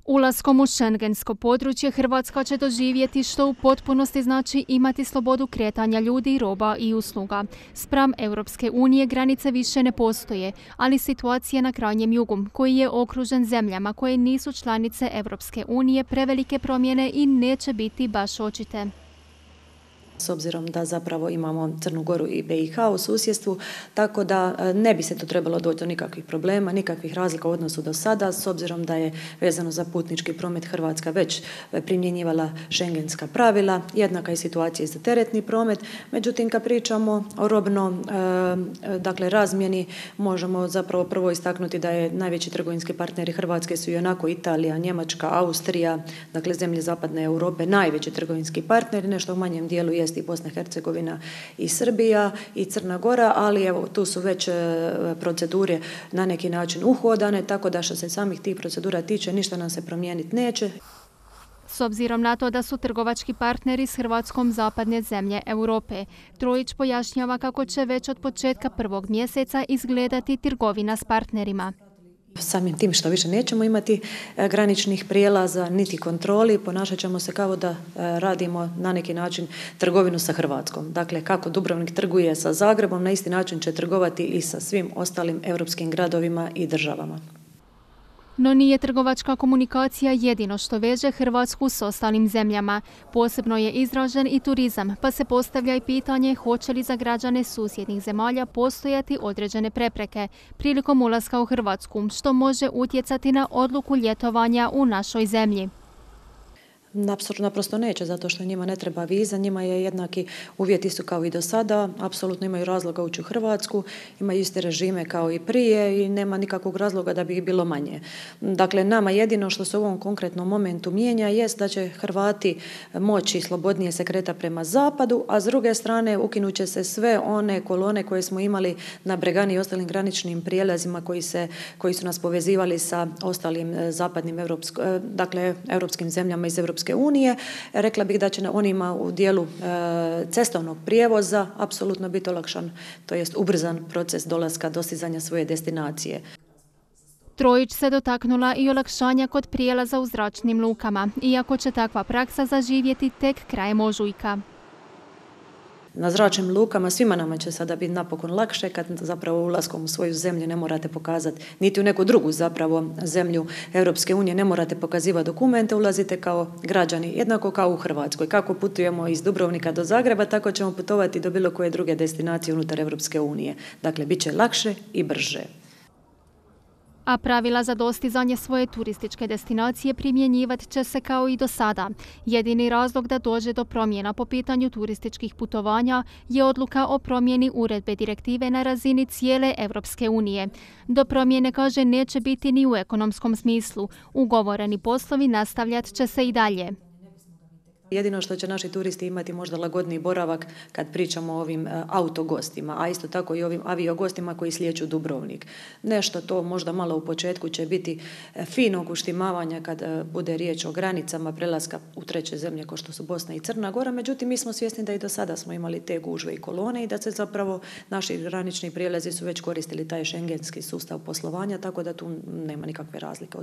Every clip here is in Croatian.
Ulaskom u šengensko područje Hrvatska će doživjeti što u potpunosti znači imati slobodu kretanja ljudi, roba i usluga. Spram Europske unije granice više ne postoje, ali situacija na krajnjem jugu, koji je okružen zemljama koje nisu članice Europske unije, prevelike promjene i neće biti baš očite. S obzirom da zapravo imamo Crnu Goru i BiH u susjedstvu, tako da ne bi se tu trebalo doći do nikakvih problema, nikakvih razlika u odnosu do sada, s obzirom da je vezano za putnički promet Hrvatska već primjenjivala šengenska pravila, jednaka je situacija i za teretni promet. Međutim, kad pričamo o razmjeni, možemo zapravo prvo istaknuti da je najveći trgovinski partneri Hrvatske su i onako Italija, Njemačka, Austrija, dakle zemlje zapadne Europe, najveći trgovinski partneri, nešto u manjem dijelu je i Bosna i Hercegovina i Srbija i Crna Gora, ali evo tu su već procedure na neki način uhodane, tako da što se samih tih procedura tiče ništa nam se promijeniti neće. S obzirom na to da su trgovački partneri s Hrvatskom zapadne zemlje Europe, Trojić pojašnjava kako će već od početka prvog mjeseca izgledati trgovina s partnerima. Samim tim što više nećemo imati graničnih prijelaza niti kontroli, ponašat ćemo se kao da radimo na neki način trgovinu sa Hrvatskom. Dakle, kako Dubrovnik trguje sa Zagrebom, na isti način će trgovati i sa svim ostalim europskim gradovima i državama. No nije trgovačka komunikacija jedino što veže Hrvatsku s ostalim zemljama. Posebno je izražen i turizam, pa se postavlja i pitanje hoće li za građane susjednih zemalja postojati određene prepreke prilikom ulaska u Hrvatsku, što može utjecati na odluku ljetovanja u našoj zemlji. Naprosto neće, zato što njima ne treba viza, njima je jednaki uvjeti su kao i do sada, apsolutno imaju razloga ući u Hrvatsku, imaju iste režime kao i prije i nema nikakvog razloga da bi ih bilo manje. Dakle, nama jedino što se u ovom konkretnom momentu mijenja jest da će Hrvati moći slobodnije se kretati prema zapadu, a s druge strane ukinut će se sve one kolone koje smo imali na Bregani i ostalim graničnim prijelazima koji su nas povezivali sa ostalim zapadnim europskim zemljama iz Europske unije. Rekla bih da će onima u dijelu cestovnog prijevoza apsolutno biti olakšan, to jest ubrzan proces dolaska, dostizanja svoje destinacije. Trojić se dotaknula i olakšanja kod prijelaza u zračnim lukama, iako će takva praksa zaživjeti tek krajem ožujka. Na zračnim lukama svima nama će sada biti napokon lakše kad zapravo ulaskom u svoju zemlju ne morate pokazati, niti u neku drugu zapravo zemlju Europske unije ne morate pokazivati dokumente, ulazite kao građani, jednako kao u Hrvatskoj. Kako putujemo iz Dubrovnika do Zagreba, tako ćemo putovati do bilo koje druge destinacije unutar Europske unije. Dakle, bit će lakše i brže. A pravila za dostizanje svoje turističke destinacije primjenjivat će se kao i do sada. Jedini razlog da dođe do promjena po pitanju turističkih putovanja je odluka o promjeni uredbe direktive na razini cijele Europske unije. Do promjene, kaže, neće biti ni u ekonomskom smislu. Ugovoreni poslovi nastavljat će se i dalje. Jedino što će naši turisti imati možda lagodniji boravak kad pričamo o ovim autogostima, a isto tako i ovim aviogostima koji slijeću Dubrovnik. Nešto to možda malo u početku će biti finog uštimavanja kad bude riječ o granicama prelaska u treće zemlje kao što su Bosna i Crna Gora, međutim mi smo svjesni da i do sada smo imali te gužve i kolone i da se zapravo naši granični prijelazi su već koristili taj šengenski sustav poslovanja, tako da tu nema nikakve razlike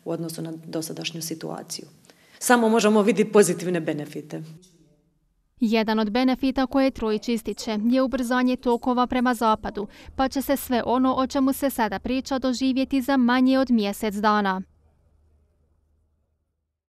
u odnosu na dosadašnju situaciju. Samo možemo vidjeti pozitivne benefite. Jedan od benefita koje Trojić ističe je ubrzanje tokova prema zapadu, pa će se sve ono o čemu se sada priča doživjeti za manje od mjesec dana.